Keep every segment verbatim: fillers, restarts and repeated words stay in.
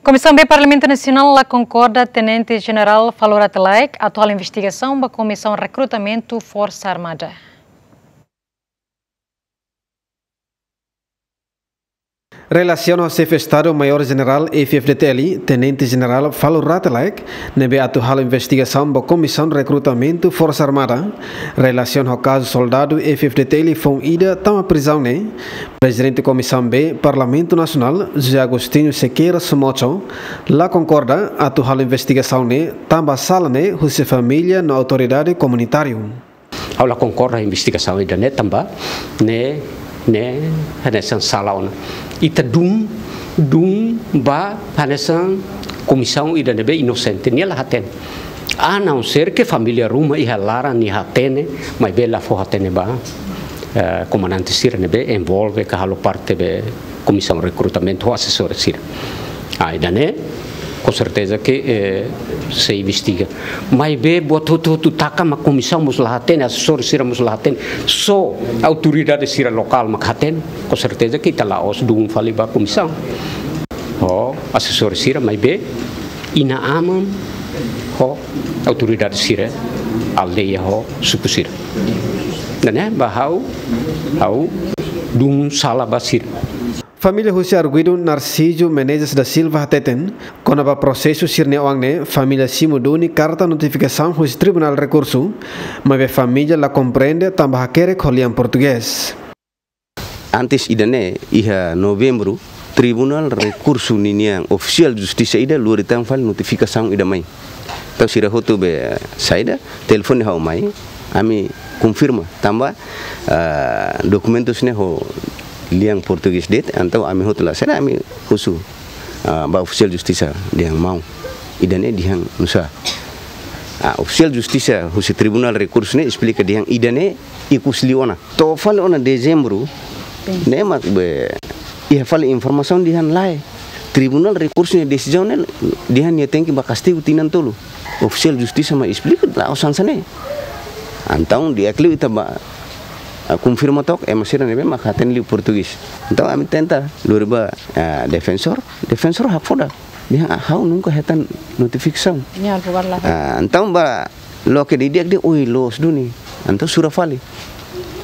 Komisaun B Parlamentu Nasionál la konkorda Tenente Jenerál Falur Rate Laek atu halo investigasaun ba Komisaun Rekrutamentu Forsa Armada. Relasiona ho Xefe Estadu Maiór Jenerál F-FDTL, Tenente Jenerál Falur Rate Laek, ne'ebé atu halo investigasaun ba Komisaun Rekrutamentu Forsa Armada, relasiona ho kazu soldadu F-FDTL foun ida tama prizaun ne'e, Prezidente Komisaun B Parlamentu Nasionál, José Agostinho Sequeira Somocho, la konkorda atu halo investigasaun ne'e tanba sala ne'e husi família no autoridade komunitáriu. Ha'u la konkorda investigasaun ida-ne'e tanba ne'e, ne'e hanesan sala ona. Ita dún, dún ba hanesan komisaun ida ne'ebé inosente, nia la hatene. A não ser que família ruma iha laran nia hatene, maibé la fó hatene ba, eh, komandante sira ne'ebé envolve ka halo parte be Komisaun Rekrutamentu ho asesór sira. Ah, ida-ne'e, com certeza que, eh, sei investiga. Maibé buat hotu-hotu taka mak komisaun mós la hatene, asesór sira mós la hatene. Só autoridade sira lokál mak hatene, com certeza que ita la'ós dún fali ba komisaun. Ho asesór sira, maibé inan-aman ho autoridade sira, aldeia ho suku sira. Ne'e ba ha'u, ha'u dún sala ba sira. Família husi arguidu Narciso Menezes da Silva hateten, kona-ba prosesu sira-nia oan ne'e, família simu duni karta notifikasaun husi Tribunál Rekursu, maibé família la komprende tanba hakerek ho lian portugés. Antes ida-ne'e, iha Novembru, Tribunál Rekursu ninian ofisiál justisa ida lori tan fali notifikasaun ida mai. Entaun sira hotu be saida, telefone ha'u mai, ami konfirma, tanba, ah, dokumentus ne'e ho lian portugés de'it, entaun ami hotu la saida, ami husu, ah, ba ofisiál justisa dehan maun. Ida-ne'e dehan nusá. Ah, ofisiál justisa husi Tribunál Rekursu ne'e esplika dehan ida-ne'e ikus liu ona. To'o fali ona Dezembru, ne'e mak be iha fali informasaun dehan lae. Tribunál Rekursu nia desizaun ne'e dehan nia tenke ba kastigu tinan tolu. Ofisiál justisa mak esplika la'ós hanesan ne'e. Entaun di'ak liu ita ba, ah, konfirma took ema sira ne'ebé mak hatene liu portugés. Entaun ami tenta lori ba, ah, defensór, defensór hakfodak. Dehan, ah, ha'u nunka hetan notifikasaun. Nia halo bukan lah. Ah, entaun ba loke didi'ak dehan, oi, loos duni. Entaun sura fali.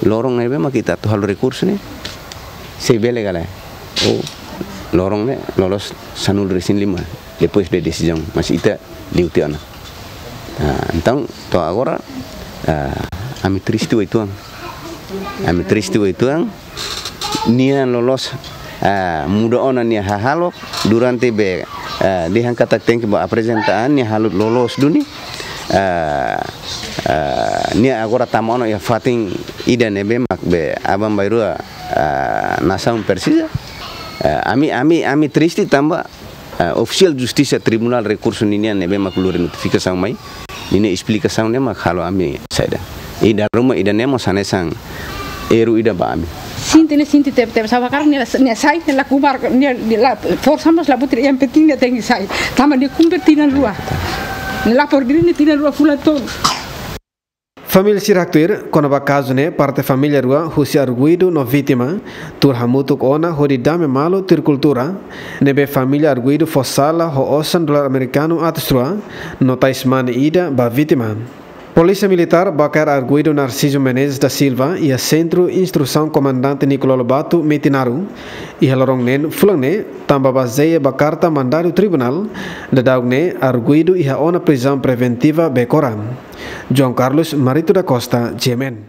Loron ne'ebé mak ita atu halo rekursu ne'e, sei bele ka lae. Oh, loron ne'e loloos sanulu-resin-lima, depois de desizaun, mas ita liu tiha ona. Ah, entaun, to'o agora, ah, ami triste uitoan. Ami triste uitoan. Nia loloos, ah, muda ona nia hahalok durante be, ah, dehan katak tenke ba aprezenta an, nia halo loloos duni. Ah, ah, nia agora tama ona iha fatin ida ne'ebé mak be aban-bainrua, ah, nasaun presiza. Ah, ami, ami, ami triste tanba, ah, ofisiál justisa Tribunál Rekursu ninian ne'ebé mak lori notifikasaun mai, ninia esplikasaun ne'e mak halo ami saida. I dala ruma ida-ne'e mós hanesan erru ida ba ami. Sente ne'e, sente tebe-tebes, sá hakarak nia, nia sai, nia la kubar, nia, nia la forsa mós la butir, yang penting nia tenke sai. Tanba nia kumpre tinan rua. Nia lapor diri nia tinan rua fulan tolu. Família sira haktuir, kona-ba kazu ne'e parte família rua husi arguidu no vítima, tuur hamutuk ona hodi dame malu tuir kultura, ne'ebé família arguidu fó sala ho osan dolar amerikanu atus rua, no tais mane ida ba vítima. Polísia Militár bá kaer arguidu Narciso Menezes da Silva iha Sentru Instrusaun Komandante Nicolau Lobato, Metinaro, iha loron neen fulan ne'e, tanba bazeia ba karta mandadu tribunál, daudaun ne'e arguidu iha ona prizaun preventiva Becora. João Carlos Marito da Costa, G M N.